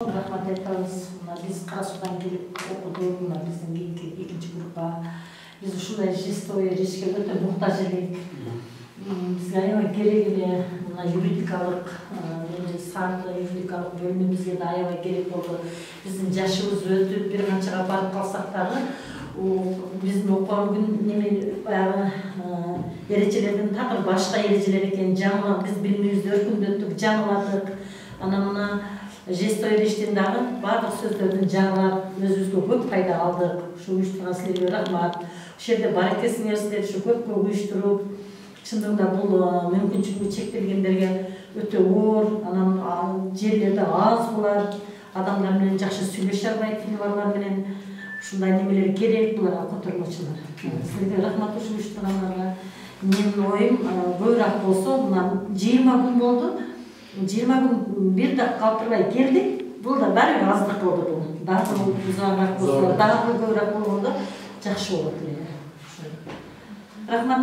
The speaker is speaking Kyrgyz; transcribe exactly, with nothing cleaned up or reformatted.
Рахмат айтабыз. Биз Кара Суудан келип окудук, мына биздин кийинки экинчи группа. Биз ушундай жестовый речке өтө муктаж элек. Бизге аябай керек эле мына юридикалык, саатта юридикалык бөлүмүбүзгө да аябай керек болду. Биздин жашыбыз өтүп, бир канчага барып калсак дагы, биздин окуган күн неме баягы эрежелердин такыр башка эрежелер экенин жаңылап, биз билимибизди өркүндөттүк, жаңыладык. Анан мына жестовый речтен дагы баардык сөздөрдүн жаңылап, өзүбүзгө көп пайда алдык. Ушу уюштурган силерге рахмат. Ушул жерде бар экенсиңер, ушу көпкө уюштуруп, чындыгында бул мүмкүнчүлүгү чектелгендерге өтө оор, анан жерлерде аз булар, адамдар менен жакшы сүйлөшө албайт, тилибарлар менен. Ушундай немелер керек буларга, котормочулар. Силерге рахмат ушу уюштургандарга. Менин оюм көбүрөөк болсо, мына жыйырма күн болду. жыйырма күн бир да калтырбай келдик. Бул да баары бир аздык болду бул. Дагы узагыраак болсо, дагы көбүрөөк болгондо жакшы болот эле. Рахмат.